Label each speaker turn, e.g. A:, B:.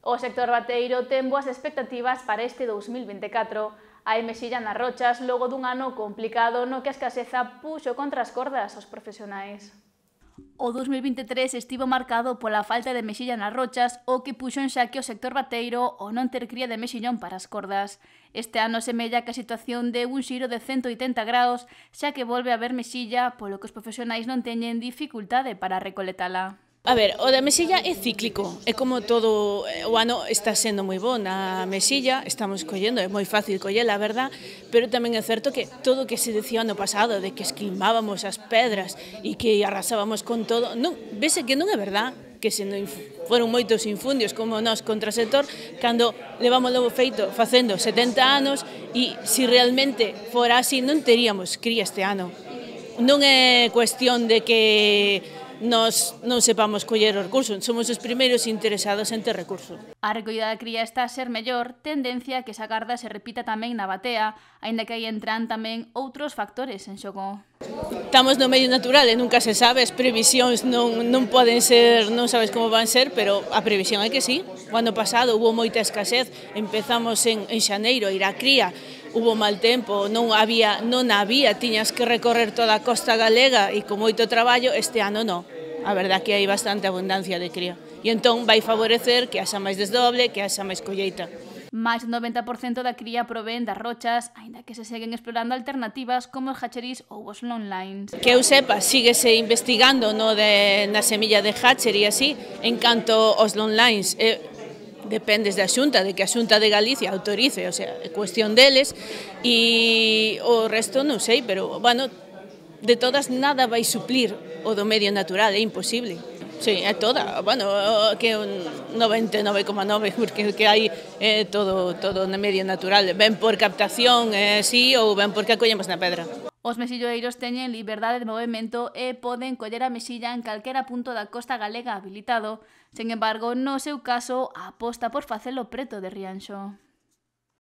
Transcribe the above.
A: O sector bateiro ten boas expectativas para este 2024. Hai mexilla nas rochas logo dun ano complicado no que a escaseza puxo contra as cordas aos profesionais. O 2023 estivo marcado pola falta de mexilla nas rochas, o que puxo en xaque o sector bateiro o non ter cría de mexillón para as cordas. Este ano semella que a situación de un xiro de 180 graus, xa que volve a haber mexilla, polo que os profesionais non teñen dificultade para recoletala.
B: A ver, o da mexilla é cíclico, é como todo, o ano está sendo moi bo na mexilla, estamos collendo, é moi fácil collela, a verdad, pero tamén é certo que todo o que se decía ano pasado, de que esquilmábamos as pedras e que arrasábamos con todo, non, vese que non é verdad, que se non foron moitos infundios como nós contra o sector, cando levamos logo feito facendo 70 anos e se realmente fora así non teríamos cría este ano. Non é cuestión de que nos non sepamos coller o recurso, somos os primeiros interesados en ter recurso.
A: A recollida da cría está a ser mellor, tendencia que esa garda se repita tamén na batea, aínda que aí entran tamén outros factores en xogo.
B: Estamos no medio natural e nunca se sabe, as previsións non poden ser, non sabes como van ser, pero a previsión é que sí. O ano pasado hubo moita escasez, empezamos en xaneiro a ir á cría, hubo mal tempo, non había, tiñas que recorrer toda a costa galega e con moito traballo, este ano non. A verdad que hai bastante abundancia de cría. E entón vai favorecer que haxa máis desdoble, que haxa máis colleita.
A: Máis do 90% da cría provén das rochas, aínda que se seguen explorando alternativas como os hatcheries ou os long lines.
B: Que eu sepa, síguese investigando na semilla de hatchery e así, en canto aos long lines, dependes da Xunta, de que a Xunta de Galicia autorice, o sea, é cuestión deles, e o resto non sei, pero, bueno, de todas nada vai suplir o do medio natural, é imposible. Sí, é toda, bueno, que un 99,9, porque que hai todo no medio natural, ben por captación, sí, ou ben porque a collemos na pedra.
A: Os mexilloeiros teñen liberdade de movimento e poden coller a mexilla en calquera punto da costa galega habilitado. Sen embargo, no seu caso, aposta por facelo preto de Rianxo.